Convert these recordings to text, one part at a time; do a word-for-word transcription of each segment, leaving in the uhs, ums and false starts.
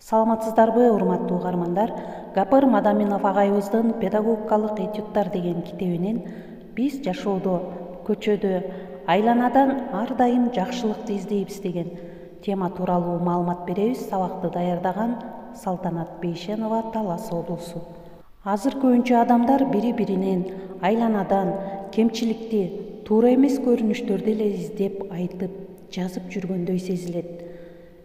Саламатсыздарбы, урматтуу угармандар? Гапыр Мадаминов агайыбыздын педагогикалык этюдтар деген китебинен биз жашоодо, көчөдө, айланадан ар дайым жакшылыкты издейбиз деген тема тууралуу маалымат беребиз. Сабакты даярдаган Салтанат Бейшенова, Талас облусу. Азыр көбүнчө адамдар бири-биринен айланадан кемчиликти, туура эмес көрүнүштөрдү эле издеп, айтып, жазып жүргөндөй сезилет.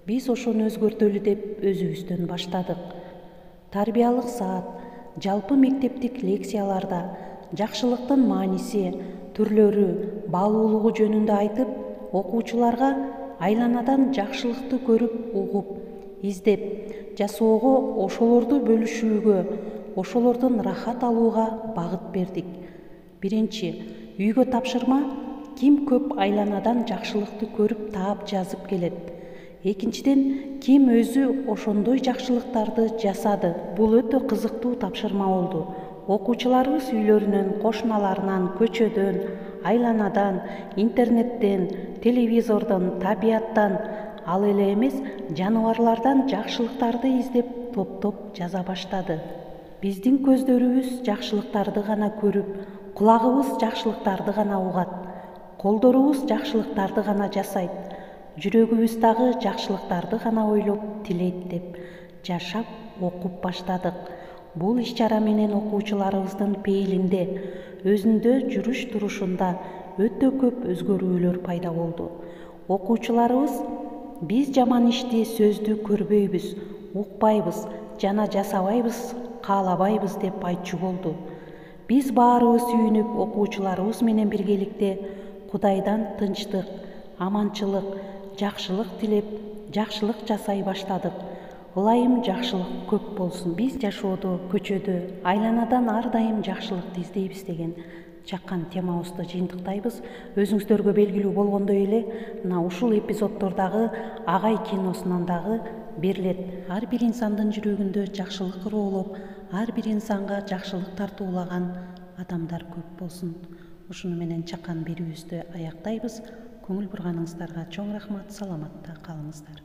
Биз ошону өзгөртөлү деп өзүбүздөн баштадык. Тарбиялык саат, жалпы мектептик лекцияларда жакшылыктын мааниси, түрлөрү, баалуулугу жөнүндө айтып, окуучуларга айланадан жакшылыкты көрүп, угуп, издеп, жасоого, ошолорду бөлүшүүгө, ошолордон рахат алууга багыт бердик. Биринчи, үйгө тапшырма: ким көп айланадан жакшылыкты көрүп, таап, жазып келет. Экинчиден, ким өзү ошондой жакшылыктарды жасады. Бул өтө кызыктуу тапшырма болду. Окуучуларыбыз үйлөрүнөн, кошуналарынан, көчөдөн, айланадан, интернеттен, телевизордон, табияттан, ал эле эмес жаныбарлардан жакшылыктарды издеп, топтоп жаза баштады. Биздин көздөрүбүз жакшылыктарды гана көрүп, кулагыбыз жакшылыктарды гана угат, колдорубуз жакшылыктарды гана жасайт, жүрөгүбүз дагы жакшылыктарды гана ойлоп, тилейт деп жашап, окуп баштадык. Бул иш-чара менен окуучуларыбыздын пейилинде, өзүндө жүрүш-турушунда өтө көп өзгөрүүлөр пайда болду. Окуучуларыбыз биз жаман ишти, сөздү көрбөйбүз, укпайбыз жана жасабайбыз, каалабайбыз деп айтчу болду. Биз баарыбыз сүйүнүп, окуучуларыбыз менен биргеликте Кудайдан тынчтык, аманчылык, жакшылык тилеп, жакшылык жасай баштадык. Ылайым жакшылык көп болсун. Биз жашоодо, көчөдө, айланадан ар дайым жакшылыкты издейбиз деген чакан темабызды жыйынтыктайбыз. Өзүңүздөргө белгилүү болгондой эле, мына ушул эпизоддордагы Агай киносунан дагы берилет. Ар бир инсандын жүрөгүндө жакшылык ыроолоп, ар бир инсанга жакшылык тартуулаган адамдар көп болсун. Ушуну менен чакан берүүбүздү аяктайбыз. Көңүл бурганыңыздарга чоң рахмат. Саламатта калыңыздар.